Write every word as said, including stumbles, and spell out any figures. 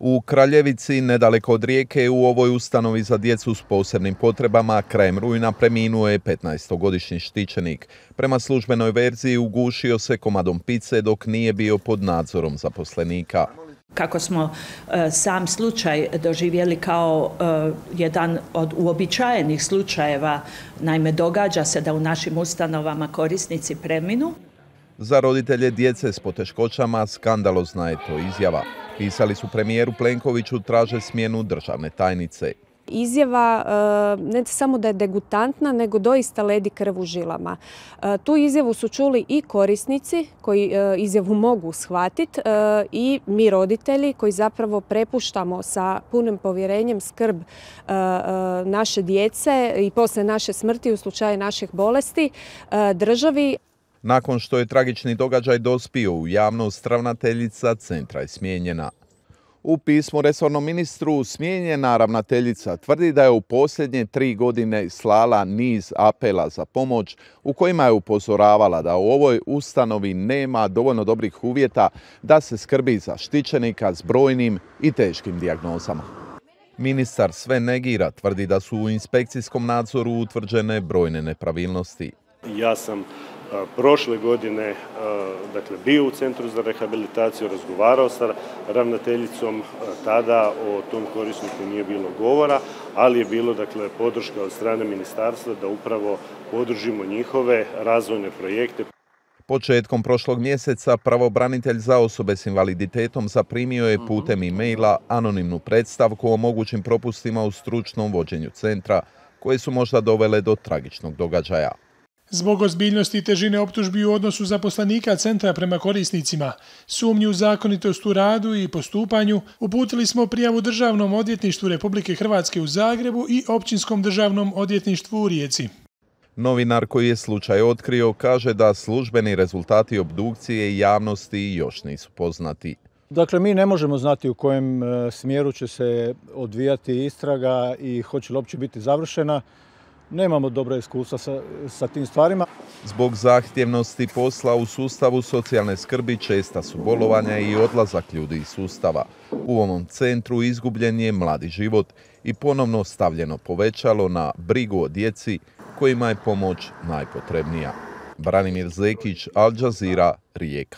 U Kraljevici, nedaleko od Rijeke, u ovoj ustanovi za djecu s posebnim potrebama krajem rujna preminuo je petnaestogodišnji štićenik. Prema službenoj verziji ugušio se komadom pice dok nije bio pod nadzorom zaposlenika. Kako smo e, sam slučaj doživjeli kao e, jedan od uobičajenih slučajeva, naime događa se da u našim ustanovama korisnici preminu. Za roditelje djece s poteškoćama skandalozna je to izjava. Pisali su premijeru Plenkoviću, traže smjenu državne tajnice. Izjava ne samo da je degutantna, nego doista ledi krv u žilama. Tu izjavu su čuli i korisnici koji izjavu mogu shvatiti i mi roditelji koji zapravo prepuštamo sa punim povjerenjem skrb naše djece i poslije naše smrti u slučaju naših bolesti državi. Nakon što je tragični događaj dospio u javnost, ravnateljica centra je smijenjena. U pismu resornom ministru smijenjena ravnateljica tvrdi da je u posljednje tri godine slala niz apela za pomoć u kojima je upozoravala da u ovoj ustanovi nema dovoljno dobrih uvjeta da se skrbi za štićenika s brojnim i teškim dijagnozama. Ministar sve negira, tvrdi da su u inspekcijskom nadzoru utvrđene brojne nepravilnosti. Ja sam prošle godine dakle, bio u Centru za rehabilitaciju, razgovarao sa ravnateljicom, tada o tom korisniku nije bilo govora, ali je bilo dakle, podrška od strane ministarstva da upravo podržimo njihove razvojne projekte. Početkom prošlog mjeseca pravobranitelj za osobe s invaliditetom zaprimio je putem e-maila anonimnu predstavku o mogućim propustima u stručnom vođenju centra, koje su možda dovele do tragičnog događaja. Zbog ozbiljnosti i težine optužbi u odnosu zaposlenika centra prema korisnicima, sumnju u zakonitost u radu i postupanju, uputili smo prijavu Državnom odvjetništvu Republike Hrvatske u Zagrebu i Općinskom državnom odvjetništvu u Rijeci. Novinar koji je slučaj otkrio kaže da službeni rezultati obdukcije javnosti još nisu poznati. Dakle, mi ne možemo znati u kojem smjeru će se odvijati istraga i hoće li uopće biti završena. Nemamo dobra iskustva sa, sa tim stvarima. Zbog zahtjevnosti posla u sustavu socijalne skrbi česta su bolovanja i odlazak ljudi iz sustava. U ovom centru izgubljen je mladi život i ponovno stavljeno povećalo na brigu o djeci kojima je pomoć najpotrebnija. Branimir Zekić, Al Jazeera, Rijeka.